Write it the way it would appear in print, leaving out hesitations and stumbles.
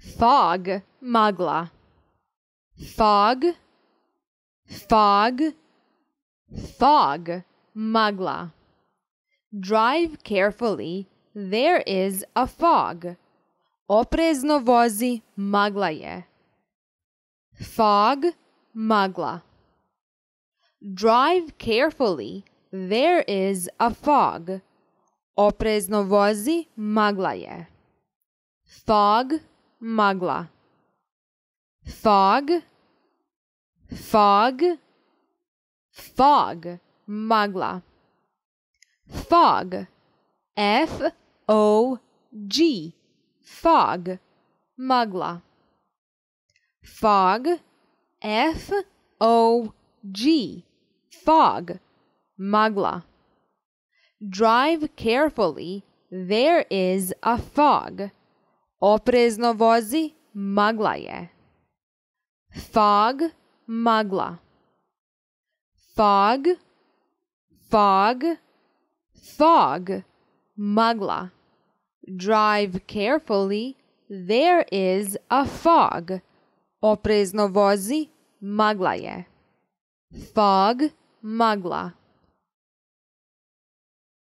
Fog, magla. Fog, fog, fog, magla. Drive carefully, there is a fog. Oprezno vozi, magla je. Fog, magla. Drive carefully, there is a fog. Oprezno vozi, magla je. Fog, magla. Fog, fog, fog, magla. Fog, F-O-G, fog, magla. Fog, F-O-G, fog, magla. Drive carefully, there is a fog. Oprezno vozi, magla je. Fog, magla. Fog, fog, fog, magla. Drive carefully, there is a fog. Oprezno vozi, magla je. Fog, magla.